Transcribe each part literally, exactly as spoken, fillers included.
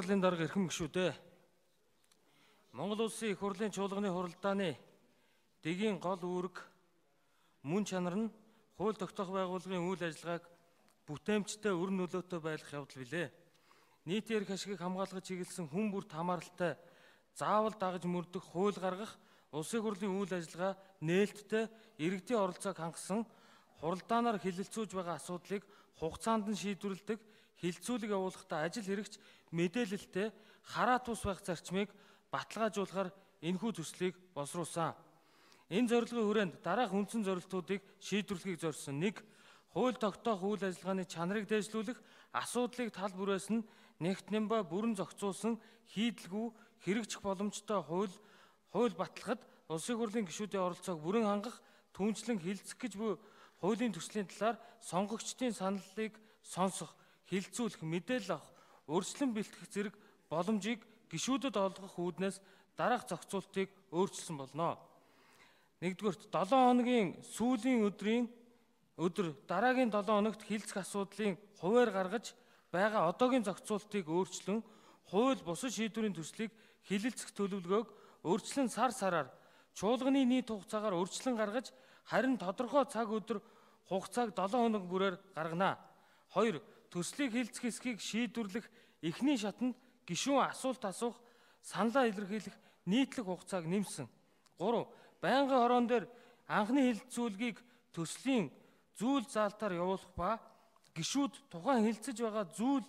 Хурлын дарга эрхэм гишүүдээ. Монгол Улсын их хурлын чуулганы хуралдааны дэгийн гол үүрэг мөн чанар нь хууль тогтоох байгууллагын үйл ажиллагааг бүтээмжтэй өр нөлөөтэй байлгах явдал билээ. Нийтийн эрх ашигыг хамгаалахад чиглэсэн хүн бүрт хамааралтай заавал дагаж мөрдөх хууль гаргах улсын хурлын үйл ажиллагаа нээлттэй иргэдийн оролцоог хангасан хуралдаанаар хилэлцүүлж байгаа асуудлыг хугацаанд нь шийдвэрлэдэг хилцүүлэг явуулахдаа ажил хэрэгч мэдээлэлтэй хараа тус байх зарчмыг баталгаажуулахаар энэхүү төслийг боловсруулсан. Энэ зорилгын хүрээнд дараах үндсэн зорилтуудыг шийдвэрлэхийг зорьсон: нэг. Хууль тогтоох үйл ажиллагааны чанарыг дээшлүүлэх, асуудлыг тал бүрээс нь нэгт нэмба бүрэн зохицуулсан хийдэлгүй хэрэгжих боломжтой хууль хууль баталгахад улсын хурлын гишүүдийн оролцоог бүрэн хангах, түнчлэн хилцэх гэж буй хуулийн төслийн талаар сонгогчдын саналыг сонсох, хилцүүлэх, мэдээлэл авах, өөрчлөн бэлтгэх зэрэг боломжийг гишүүдэд олгох үүднээс дараах зохицуултыг өөрчилсөн болно. Нэгдүгээрт, долоон хоногийн сүүлийн өдрийн өдөр дараагийн долоон хоногт хилцэх асуудлын хуваар гаргаж байгаа одоогийн зохицуултыг өөрчлөн хууль бусад шийдвэрийн төслийг хилэлцэх төлөвлөгөөг өөрчлөн сар сараар чуулганы нийт хугацаагаар өөрчлөн гаргаж, харин тодорхой цаг өдөр хугацааг долоон хоног бүрээр гаргана. Хоёр. Төслийг хилцэх хэсгийг шийдвэрлэх эхний шатанд гишүүн асуулт асуух, саналаа илэрхийлэх нийтлэг хугацааг нэмсэн. Гурав. Байнгын хорон дээр анхны хилцүүлгийг төслийн зүйл заалтаар явуулах ба гишүүд тухайн хилцэж байгаа зүйл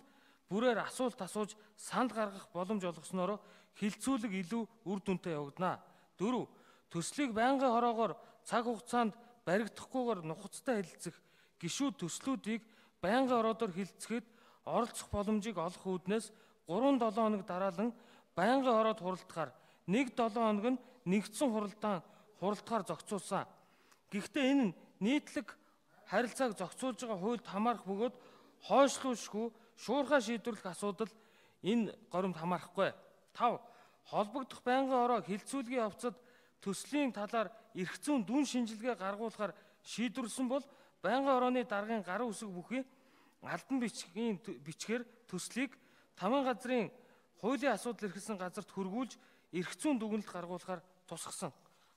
бүрээр асуулт асууж санал гаргах боломж олгосноор хилцүүлэг илүү үр дүнтэй явагдана. Дөрөв. Төслийг байнгын хороогоор цаг хугацаанд баригдахгүйгээр нухацтай хэлэлцэх гишүүд төслүүдийг байнгын хороодоор хилцэхэд оролцох боломжийг олох үүднээс гурван долоон хоног дараалан байнгын хороод хуралдахаар нэг долоон хоног нь нэгдсэн хуралдаан хуралдахаар зохицуулсан. Гэхдээ энэ нь нийтлэг харилцааг зохицуулж байгаа хуульд хамаарах бөгөөд хойшлуулшгүй шуурхай шийдвэрлэх асуудал энэ горимд хамаарахгүй. Тав. Холбогдох байнгын хороо хилцүүлгийн явцад төслийн талаар эрх зүйн дүн шинжилгээ гаргуулахаар шийдвэрлсэн бол байнгын хорооны даргын гарын үсэг бүхий алдан бичгийн бичгээр төслийг тамийн газрын хуулийн асуудал эрхэлсэн газарт хөргүүлж эрх зүйн дүгнэлт гаргуулахаар тусгасан.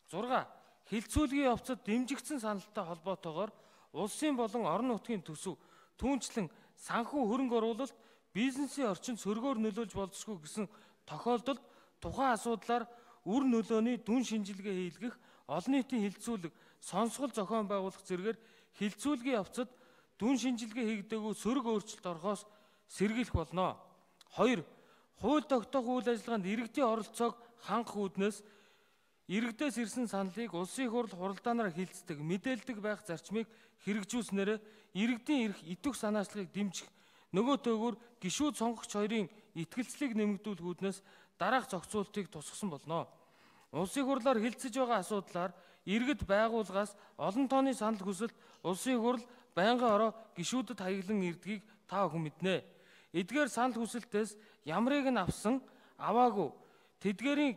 зурга. Хилцүүлгийн явцад дэмжигдсэн саналтай холбоотойгоор улсын болон орон нутгийн төсөв, түүнчлэн санхүү хөрөнгө оруулалт, бизнесийн орчинд сөргөөр нөлөөлж болзошгүй гэсэн тохиолдолд тухайн асуудлаар үр нөлөөний дүн шинжилгээ хийлгэх, олон нийтийн хилцүүлэг, сонсгол зохион байгуулах зэргээр хилцүүлгийн явцад дүн шинжилгээ хийгдээгүй сөрөг өөрчлөлт орохоос сэргийлэх болно. Хоёр. Хууль тогтоох үйл ажиллагаанд иргэдийн оролцоог хангах үүднээс иргэдээс ирсэн саналыг улсын хурл хуралдаанаар хилцдэг, мэдээлдэг байх зарчмыг хэрэгжүүлснээр иргэдийн эрх итвэх санаачлагыг дэмжих, нөгөө төөгөр гишүүд сонгогч хоёрын итгэлцлийг нэмэгдүүлэх үүднээс дараах зохицуултыг тусгасан болно. Улсын хурлаар хилцэж байгаа асуудлаар иргэд байгууллагаас олон тооны санал хүсэлт улсын хурл байнгын хороо гишүүдэд хаяглан ирдгийг та бүхэн мэднэ. Эдгээр санал хүсэлтээс ямрыг нь авсан, аваагүй, тэдгээрийн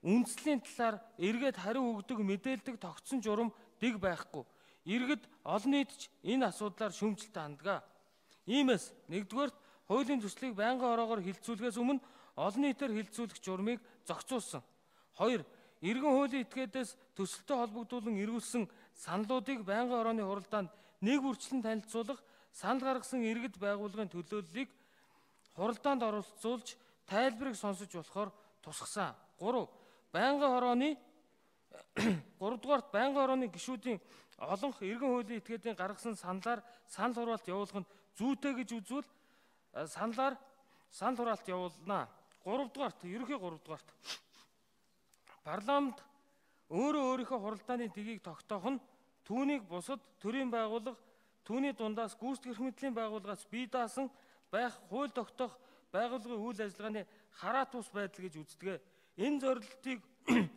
үндслийн талаар эргээд хариу өгдөг, мэдээлдэг тогтсон журам дэг байхгүй. Иргэд олон нийт ч энэ асуудлаар шүүмжлэлтэй ханддаг. Иймээс нэгдүгээрт хуулийн төслийг байнгын хороогоор хилцүүлэхээс өмнө олон нийтээр хилцүүлэх журмыг зохицуулсан. Хоёр. Иргэн хуулийн этгээдээс төсөлтөй холбогдуулан эргүүлсэн саналуудыг байнгын хорооны хуралдаанд нэг үрчлэн танилцуулах, санал гаргасан иргэд байгууллагын төлөөллийг хуралдаанд оролцуулж тайлбарыг сонсож болохоор тусгасан. Гурав. Байнгын хорооны гуравдугаарт байнгын хорооны гишүүдийн олонх иргэн хуулийн этгээдийн гаргасан саналаар санал хураалт явуулах нь зүйтэй гэж үзвэл саналаар санал хураалт явуулна. Гуравдугаарт, ерөнхий гуравдугаарт парламент өөрөө өөрийнхөө хуралдааны дэгийг тогтоох нь түүнийг бусад төрийн байгууллага, түүний дундаас гүйцэтгэх мэдлийн байгууллагаас бие даасан байх хууль тогтоох байгууллагын үйл ажиллагааны хараа тус байдал гэж үздэг. Энэ зорилтыг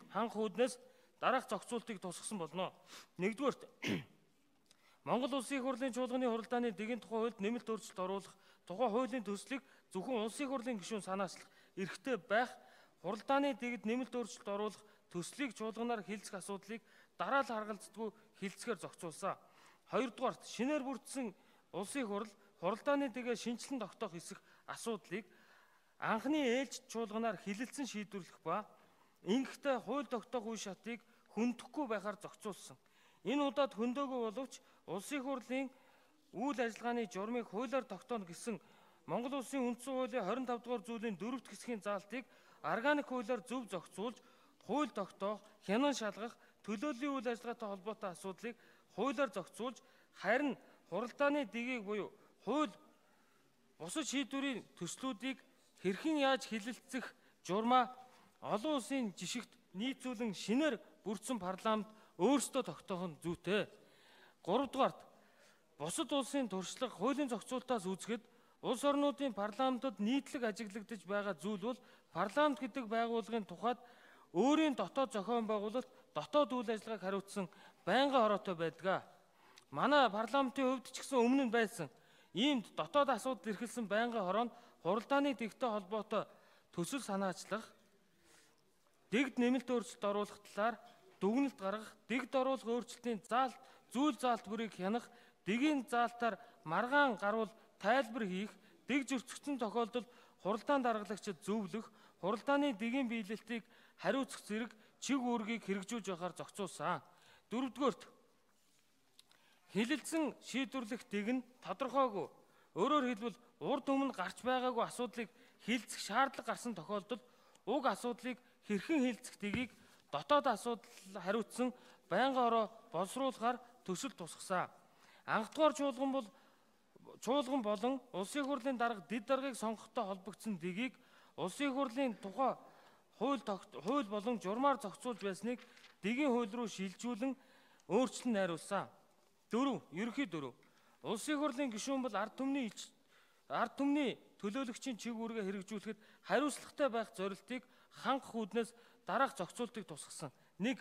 хангах үүднээс дараах зохицуултыг тусгасан болно. Нэгдүгээрт, Монгол Улсын их хурлын чуулганы хуралдааны дэгийн тухай хуульд нэмэлт өөрчлөлт оруулах, тухай хуулийн төслийг зөвхөн улсын их хурлын гишүүн санаачлах эрхтэй байх, хуралдааны дэгэд нэмэлт өөрчлөлт оруулах, төслийг чуулганаар хилцэх асуудлыг дараа л харгалздгүй хилцэхээр зохицуулсан. Хоёрдугаарт, шинээр бүрдсэн улсын их хурл хуралдааны дэгээ шинжилэн тогтоох хэсэг асуудлыг анхны ээлж чуулганаар хилэлцэн шийдвэрлэх ба ингэхдээ хууль тогтоох үе шатыг хөндөхгүй байхаар зохицуулсан. Энэ удаад хөндөөгүй боловч улсын хурлын үйл ажиллагааны журмыг хуулиар тогтооно гэсэн Монгол Улсын үндсэн хуулийн хорин тав дугаар зүйлийн дөрөвт хэсгийн заалтыг органик хуулиар зөв зохицуулж, хууль тогтоох, хянан шалгах, төлөөллийн үйл ажиллагаатай холбоотой асуудлыг хуулиар зохицуулж, харин хуралдааны дэгийг буюу хууль бусад шийдвэрийн төслүүдийг хэрхэн яаж хилэлцэх журмаа олон улсын жишгт нийцүүлэн шинээр бүрдсэн парламент өөрсдөө тогтоох нь зүйтэй. гуравдугаарт бусад улсын туршлага хуулийн зохицуултаас үзэхэд улс орнуудын парламентод нийтлэг ажиглагдаж байгаа зүйл бол парламент гэдэг байгууллагын тухайд өөрийн дотоод зохион байгуулалт, дотоод үйл ажиллагааг хариуцсан байнгын хороотой байдаг. Манай парламентын хувьд ч гэсэн өмнө нь байсан иймд дотоод асуудал эрхэлсэн байнгын хороонд хуралдааны дэгтэй холбоотой төсөл санаачлах, дэгд нэмэлт өөрчлөлт оруулах талаар дүгнэлт гаргах, дэгд оруулах өөрчлөлтийн заалт, зүйл заалт бүрийг хянах, дэгийн заалтаар маргаан гарвал тайлбар хийх, дэг зөрчигдсөн тохиолдолд хуралдаан даргалагчид зөвлөх, хуралдааны дэгийн биелэлтийг хариуцах зэрэг чиг үүргийг хэрэгжүүлж байхаар зохицуулсан. Дөрөвдүгээрт хилэлцэн шийдвэрлэх дэг нь тодорхойгүй. Өөрөөр хэлбэл урд өмнө гарч байгаагүй асуудлыг хилцэх шаардлага гарсан тохиолдолд уг асуудлыг хэрхэн хилцэх дэгийг дотоод асуудал хариуцсан байнгын хороо боловсруулахаар төсөл тусгасан. Анхдугаар чуулган бол чуулган болон улсын хурлын дарга дэд даргыг сонгохтой холбогдсон дэгийг улсын хурлын тухай хууль хууль болон журмаар зохицуулж байсныг дэгийн хууль руу шилжүүлэн өөрчлөн найруулсан. Дөрөв, ерөнхий дөрөв. Улсын хурлын гишүүн бол ард түмний ард түмний төлөөлөгчийн чиг үүргээ хэрэгжүүлэхэд хариуцлагатай байх зорилтыг хангах үүднээс дараах зохицуултыг тусгасан. нэг.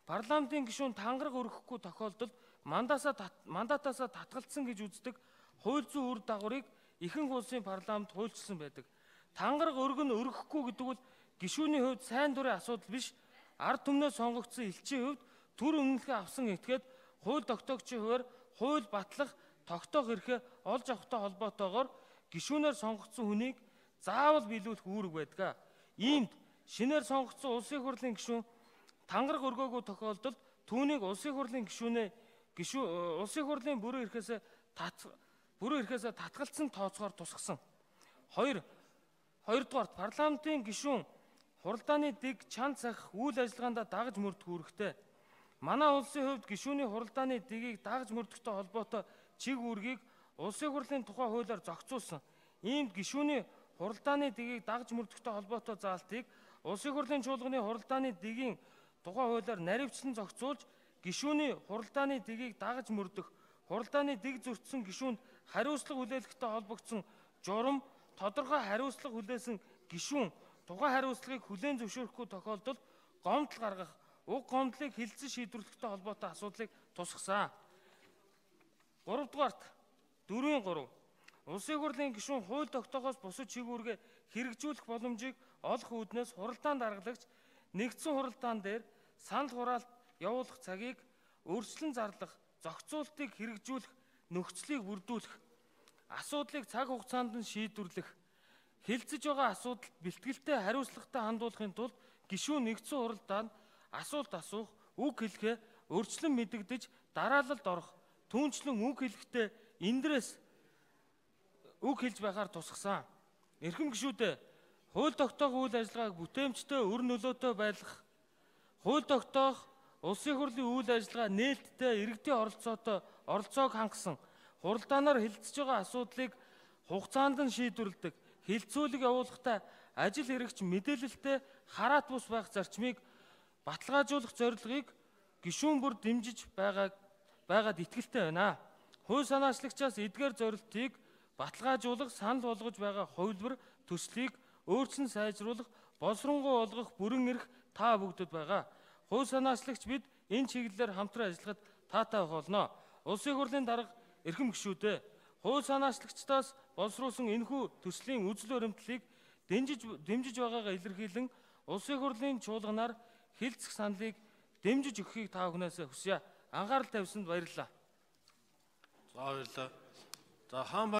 Парламентын гишүүн тангараг өргөхгүй тохиолдолд мандатаасаа татгалцсан гэж үздэг хууль зүйн үр дагаврыг ихэнх улсын парламент хуульчилсан байдаг. Тангараг өргөн өргөхгүй гэдэг бол гишүүний хувьд сайн дурын асуудал биш, ард түмнээс сонгогдсон элчийн хувьд төр өмнөхөө авсан этгээд хууль тогтоогчийн хувьар хууль батлах, тогтоох эрхээ олж авахтай холбоотойгоор гишүүнээр сонгогдсон хүнийг заавал биелүүлэх үүрэг байдаг. Иймд шинээр сонгогдсон улсын хурлын гишүүн тангараг өргөөгүй тохиолдолд түүнийг улсын хурлын гишүүнээ гишүү улсын хурлын бүрэн эрхээсээ бүрэн эрхээсээ татгалцсан тооцоогоор тусгасан. хоёр. Хоёрдугаарт парламентын гишүүн хуралдааны дэг чанд сахих үйл ажиллагаанд дагаж мөрдөх үүрэгтэй. Манай улсын хувьд гишүүний хуралдааны дэгийг дагаж мөрдөхтэй холбоотой чиг үүргийг улсын хурлын тухай хуулиар зохицуулсан. Иймд гишүүний хуралдааны дэгийг дагаж мөрдөхтэй холбоотой заалтыг улсын хурлын чуулганы хуралдааны дэгийн тухай хуулиар наривчлан зохицуулж, гишүүний хуралдааны дэгийг дагаж мөрдөх, хуралдааны дэг зөрчсөн гишүүнд хариуцлага хүлээлгэхтэй холбогдсон журам, тодорхой хариуцлага хүлээсэн гишүүн тухайн хариуцлагыг хүлээн зөвшөөрөхгүй тохиолдолд гомдол гаргах, уг гомдлыг хилцэн шийдвэрлэхтэй холбоотой асуудлыг тусгасан. гуравдугаарт дөрвийн гурав. Улсын хурлын гишүүн хууль тогтоохоос бусад чиг үүргээ хэрэгжүүлэх боломжийг олох үүднээс хуралдаан даргалагч нэгдсэн хуралдаан дээр санал хураалт явуулах цагийг өөрчлөн зарлах, зохицуултыг хэрэгжүүлэх нөхцөлийг бүрдүүлэх, асуудлыг цаг хугацаанд нь шийдвэрлэх, хилцэж байгаа асуудалд бэлтгэлтэй хариуцлагатай хандуулахын тулд гишүүн нэгдсэн хуралдаанд асуулт асуух, үг хэлэхээ өрчлөн мэдэгдэж дараалалд орох, түүнчлэн үг хэлэхдээ эндрээс үг хэлж байхаар тусгасан. Эрхэм гишүүдээ хууль тогтоох үйл ажиллагааг бүтээмжтэй өр нөлөөтэй байлгах, хууль тогтоох улсын хурлын үйл ажиллагаа нээлттэй иргэдийн оролцоотой оролцоог хангасан, хуралдаанаар хилцэж байгаа асуудлыг хугацаанд нь шийдвэрлэдэг, хилцүүлэг явуулахдаа ажил хэрэгч мэдээлэлтэй хараат бус байх зарчмыг баталгаажуулах зорилгыг гишүүн бүр дэмжиж байгааг байгаад итгэлтэй байна. Хууль санаачлагчаас эдгээр зорилтыг баталгаажуулах, санал болгож байгаа хувилбар төслийг өөрчлөн сайжруулах, боловсронгуй болгох бүрэн эрх та бүгдэд байгаа. Хууль санаачлагч бид энэ чиглэлээр хамтран ажиллахад таатай байх болно. Улсын хурлын дарга эрхэм гишүүдээ хууль санаачлагчдаас боловсруулсан энэхүү төслийн үзэл баримтлалыг дэмжиж дэмжиж байгаагаа илэрхийлэн улсын хурлын чуулганаар хилцэх саналыг дэмжиж өгөхийг та бүхнээс хүсье. Анхаарал тавьсанд баярлалаа. За баярлалаа. За хаан